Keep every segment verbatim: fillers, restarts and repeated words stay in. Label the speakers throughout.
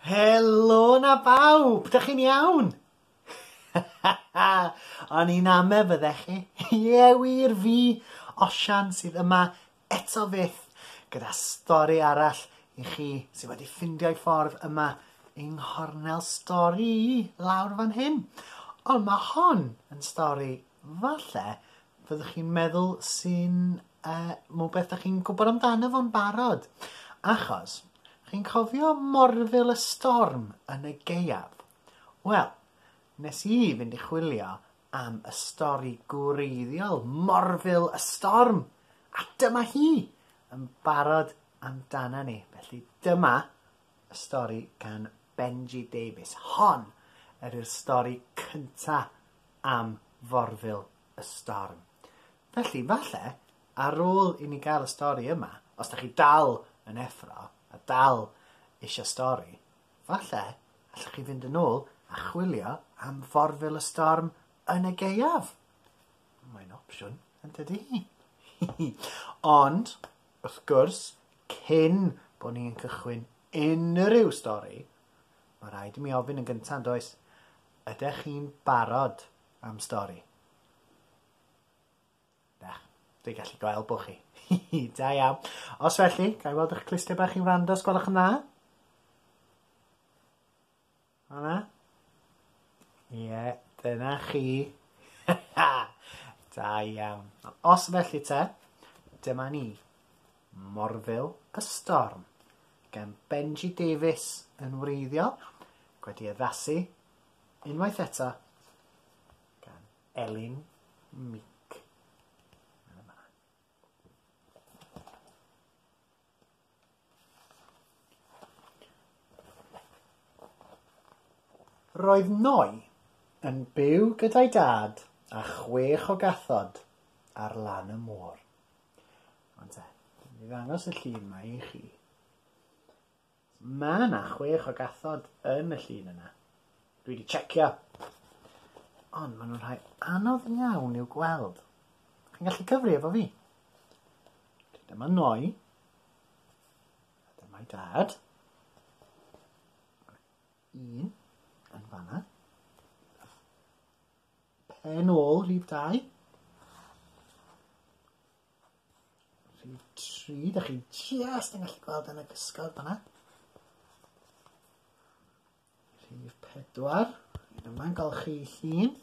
Speaker 1: Helo na bawb, dych chi'n iawn? O'n i'n ame fyddech chi. Ie wir, fi, Osian, sydd yma eto fyth gyda stori arall i chi sydd wedi ffindio'i ffordd yma yng nghornel stori lawr fan hyn. Ond mae hon yn stori falle fyddwch chi'n meddwl sy'n uh, rhywbeth dach chi'n gwybod amdano fo'n barod. Achos, chi'n cofio Morfil y Storm yn y gaeaf? Wel, nes i fynd i chwilio am y stori gwreiddiol, Morfil y Storm. A dyma hi yn barod amdana ni. Felly dyma y stori gan Benji Davies. Hon ydy'r stori cynta am Forfil y Storm. Felly, falle, ar ôl i ni gael y stori yma, os da chi dal yn effro a dal eisiau stori, falle allwch chi fynd yn ôl a chwilio am Forfil y Storm yn y gaeaf. Mae'n opsiwn, yn dydi? Ond, wrth gwrs, cyn bod ni'n cychwyn unrhyw stori, mae rhaid i mi ofyn yn gyntaf, does? Ydych chi'n barod am stori? Dach, dwi'n gallu gweld bod chi. Da iawn. Os felly, ga i weld eich clustiau bach i'n wrando, os gwelwch yn dda? O na? Ie, dyna chi. Da iawn. Os felly te, dyma ni. Morfil y Storm gan Benji Davies yn wreiddiol, wedi addasu unwaith eto gan Elin Meek. Roedd Noi yn byw gyda'i dad a chwech o gathod ar lan y môr. Ond te, mi ddangos y llun yma i chi. Mae yna chwech o gathod yn y llun yna. Dwi wedi checio. Ond maen nhw'n rhai anodd iawn i'w gweld. Chi'n gallu cyfri efo fi? Dyma Noi. A dyma'i dad. Un yn fanna. Pen ôl, rhif dau. Rhif tri, da chi just yn gallu gweld yn y gysgod fanna. Rhif pedwar, un yma'n golchi llun.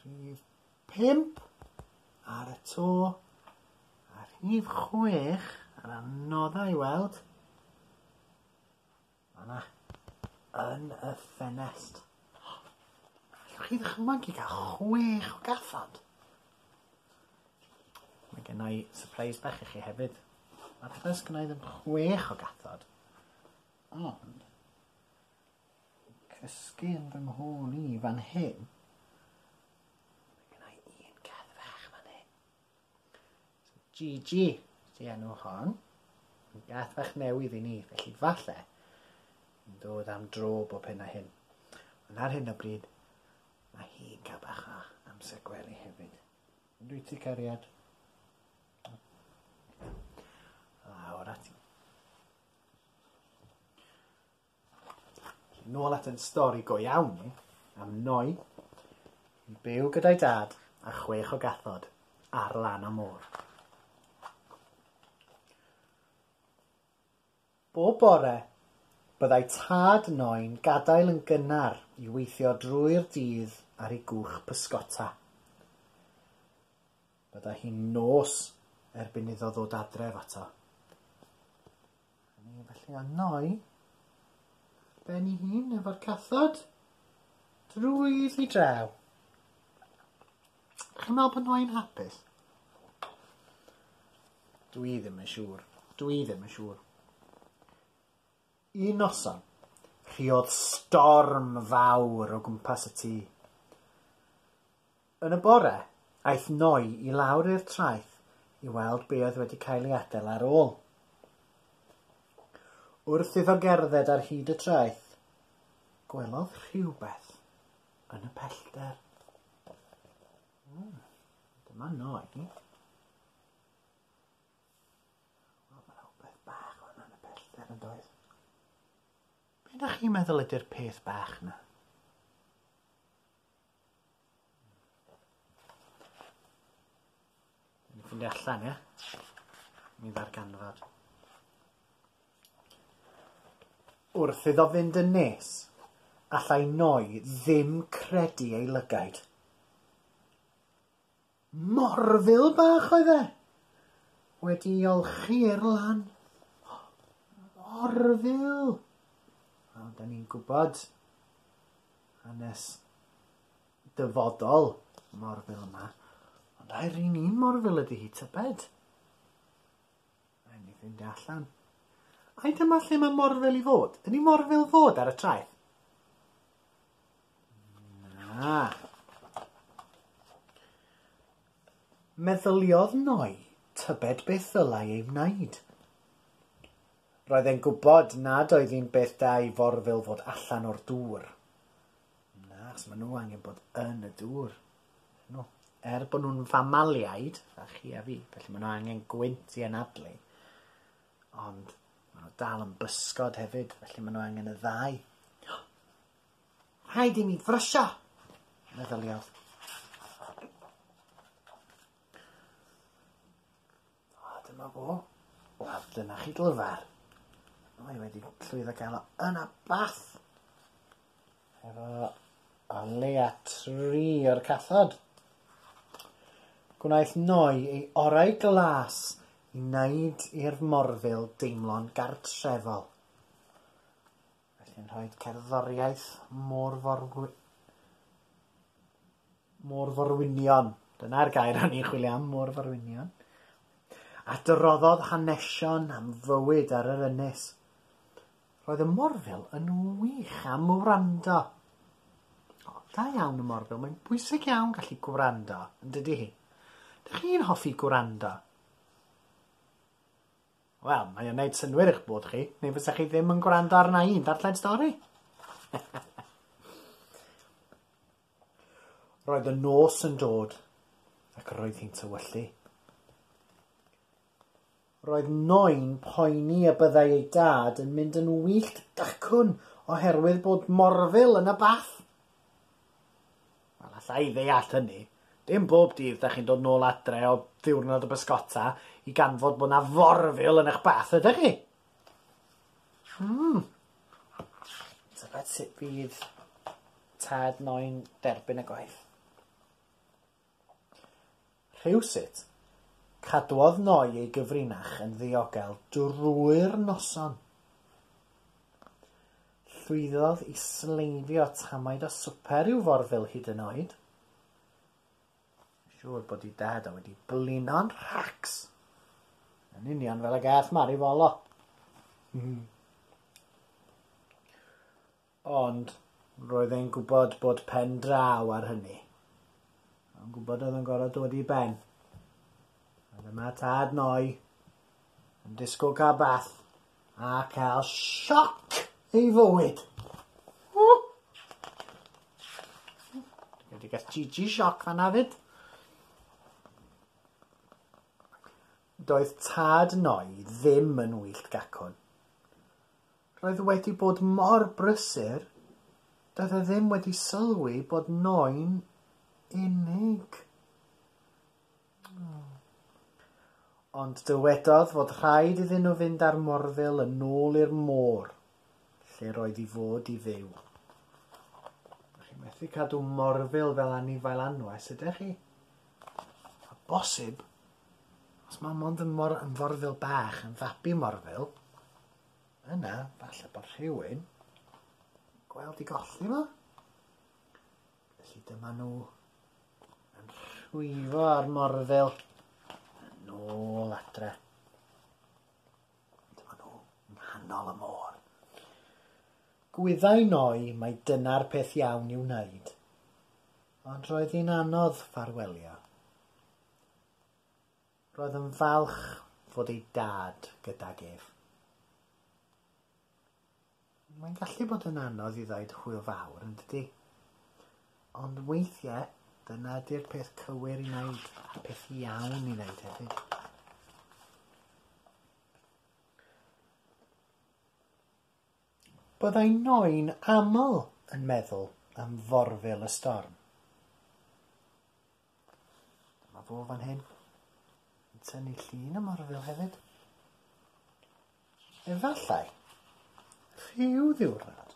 Speaker 1: Rhif pump, ar y to. A rhif chwech, yr anodda i weld. Fanna, yn y ffenest. Allwch chi ddychmygu gael chwech o gathod? Mae gen i surprise bach i chi hefyd. Falle sgynna i ddim chwech o gathod, ond cysgu yn fy nghôn i fan hyn, mae gen i un cath fach fan hyn. So, Gigi ydi enw hon. Yn gath fach newydd i ni, felly falle yn dod am dro bob hyn a hyn. Ond ar hyn o bryd, mae hi'n cael bach o amser gwely hefyd. Dwi ti cariad? Lawr ati. Nôl at yn stori go iawn ni, am Noi, yn byw gyda'i dad a chwech o gathod ar lan y môr. Bob bore, byddai tad Noi'n gadael yn gynnar i weithio drwy'r dydd ar ei gwch pysgota. Byddai hi'n nos erbyn iddo ddod adref ato. A ni, felly o Noi, ben ei hun efo'r cathod, drwy iddi draw. Chi'n meddwl bod Noi'n hapus? Dwi ddim yn siŵr. Dwi ddim yn siŵr. Un noson, rhuodd storm fawr o gwmpas y tŷ. Yn y bore, aeth Noi i lawr i'r traeth i weld be oedd wedi cael ei adael ar ôl. Wrth iddo gerdded ar hyd y traeth, gwelodd rhywbeth yn y pellter. Mm, dyma Noi. Wel, mae rhywbeth bach o'n yn y pellter yn doedd. Be ydych chi'n meddwl ydy'r peth bach na? Ni'n ffeindio allan, ie? Mi ddarganfod. Wrth iddo fynd yn nes, allai Noi ddim credu ei lygaid. Morfil bach oedd e! Wedi ei olchi i'r lan. Morfil! Wel, da ni'n gwybod hanes dyfodol morfil yma. Ond ai'r un un morfil ydy hi, tybed? Rhaid ni ffeindio allan. Ai dyma lle mae morfil i fod? Ydy morfil fod ar y traeth? Na. Meddyliodd Noi tybed beth ddylai ei wneud. Roedd e'n gwybod nad oedd hi'n beth da i forfil fod allan o'r dŵr. Na, achos maen nhw angen bod yn y dŵr. No. Er bod nhw'n famaliaid, a chi a fi, felly maen nhw angen gwynt i anadlu. Ond maen nhw dal yn bysgod hefyd, felly maen nhw angen y ddau. Rhaid i mi frysio, meddyliodd. O, dyma fo. Wel, dyna chi glyfar. Mae wedi llwyddo gael o yn y bath. Efo o leia tri o'r cathod. Gwnaeth Noi ei orau glas i wneud i'r morfil deimlo'n gartrefol. Felly'n rhoi cerddoriaeth môr-forwi- môr-forwynion. Dyna'r gair o'n i'n chwilio am, môr-forwynion. A droddodd hanesion am fywyd ar yr ynys. Roedd y morfil yn wych am wrando. O, da iawn y morfil. Mae'n bwysig iawn gallu gwrando, yn dydy hi? Dych chi'n hoffi gwrando? Wel, mae o'n neud synnwyr eich bod chi, neu fysa chi ddim yn gwrando arna i'n darllen stori. Roedd y nos yn dod, ac roedd hi'n tywyllu. Roedd Noi'n poeni y byddai ei dad yn mynd yn wyllt dacwn oherwydd bod morfil yn y bath. Wel, alla i ddeall hynny. Dim bob dydd da chi'n dod nôl adre o ddiwrnod o bysgota i ganfod bod na forfil yn eich bath, ydych chi? Hmm. Tybed sut fydd tad Noi'n derbyn y gwaith. Rhywsut, cadwodd Noi ei gyfrinach yn ddiogel drwy'r noson. Llwyddodd i sleifio tamaid o swper i'w forfil hyd yn oed. Siŵr bod ei dad o wedi blino'n rhacs. Yn union fel y gath Mari Folo. Mm. Ond roedd e'n gwybod bod pen draw ar hynny. O'n gwybod oedd yn gorfod dod i ben. A dyma tad Noi yn disgwyl cael bath a cael sioc ei fywyd. Wedi gael Gigi sioc fan'na fyd. Doedd tad Noi ddim yn wyllt gacwn. Roedd wedi bod mor brysur, doedd e ddim wedi sylwi bod Noi'n unig. Ond dywedodd fod rhaid iddyn nhw fynd â'r morfil yn ôl i'r môr, lle roedd i fod i fyw. Chi'n methu cadw morfil fel anifail anwes, ydych chi? A bosib, os mae mond yn, mor, yn forfil bach, yn fabi morfil, yna, falle bod rhywun gweld i golli fo. Felly dyma nhw yn rhwyfo ar morfil yn ôl adre. Dyma nhw yng nghanol y môr. Gwyddai Noi mai dyna'r peth iawn i'w wneud, ond roedd hi'n anodd ffarwelio. Roedd yn falch fod ei dad gydag ef. Mae'n gallu bod yn anodd i ddweud hwyl fawr, yn dydi? Ond weithiau, dyna ydy'r peth cywir i wneud, a'r peth iawn i wneud hefyd. Byddai Noi'n aml yn meddwl am forfil y storm. Dyma fo fan hyn, yn tynnu llun y morfil hefyd. Efallai, rhyw ddiwrnod,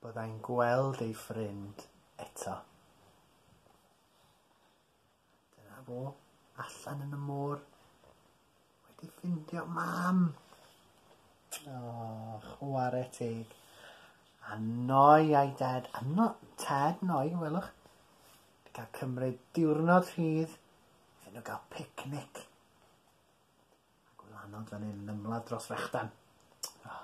Speaker 1: byddai'n gweld ei ffrind eto. Dyna fo, allan yn y môr, wedi ffindio mam. O, chwarae teg. A Noi a'i dad, a no, tad Noi, welwch, wedi cael cymryd diwrnod rhydd iddyn nhw gael picnic. A gwylanod fan hyn yn ymladd dros frechdan. Oh.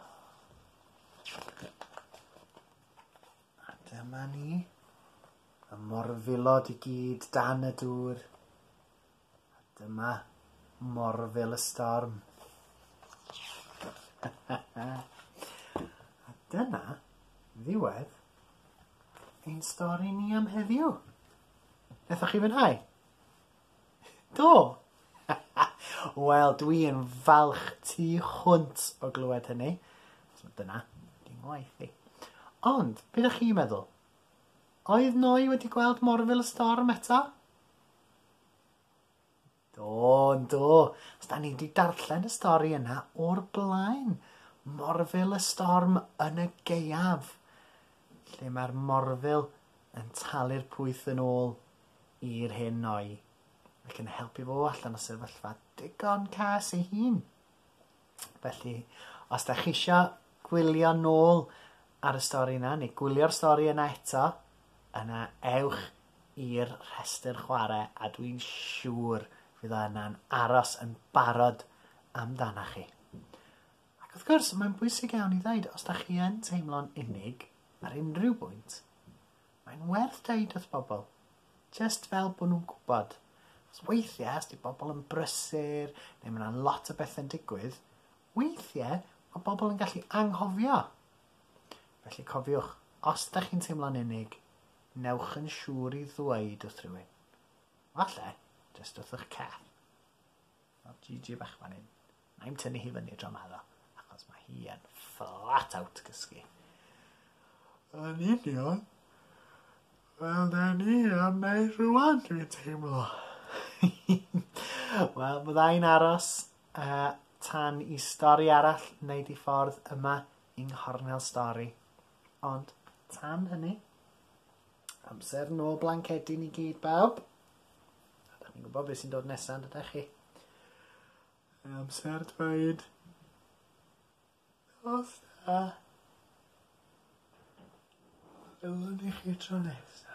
Speaker 1: A dyma ni, y morfilod i gyd dan y dŵr. A dyma morfil y storm. A dyna ddiwedd ein stori ni am heddiw. Nethoch chi fwynhau? Do! Wel, dwi yn falch tu hwnt o glywed hynny. So dyna, di'n ngwaith i. Ond, be ydych chi'n meddwl? Oedd Noi wedi gweld morfil y storm eto? Do, do. Os da ni wedi darllen y stori yna o'r blaen. Morfil y storm yn y gaeaf. Lle mae'r morfil yn talu'r pwyth yn ôl i'r hen Noi. Ac yn helpu fo allan o sefyllfa digon cas ei hun. Felly, os da chi isio gwylio nôl ar y stori yna, neu gwylio'r stori yna eto, yna ewch i'r rhestr chwarae, a dwi'n siŵr fydd o yna'n aros yn barod amdana chi. Ac wrth gwrs, mae'n bwysig iawn i ddweud, os da chi yn teimlo'n unig ar unrhyw bwynt, mae'n werth deud wrth bobl, just fel bod nhw'n gwybod. Os weithiau, os di bobl yn brysur, neu mae yna lot o bethau'n digwydd, weithiau mae bobl yn gallu anghofio. Felly cofiwch, os da chi'n teimlo'n unig, newch yn siŵr i ddweud wrth rhywun. Falle, jyst wrth eich cath. Mae'r Gigi bach fan hyn. Na'i'm tynnu hi fyny dro 'ma ddo, achos mae hi yn flat out gysgu. Yn union, fel da ni am wneud rwan, dwi'n teimlo. Wel, byddai'n aros uh, tan i stori arall wneud i ffordd yma yng Nghornel Stori. Ond tan hynny, amser nôl blancedi ni gyd bawb. A da chi'n gwybod beth sy'n dod nesaf, ydych chi? Amser dweud. Nos da. Welwn ni chi tro nesaf.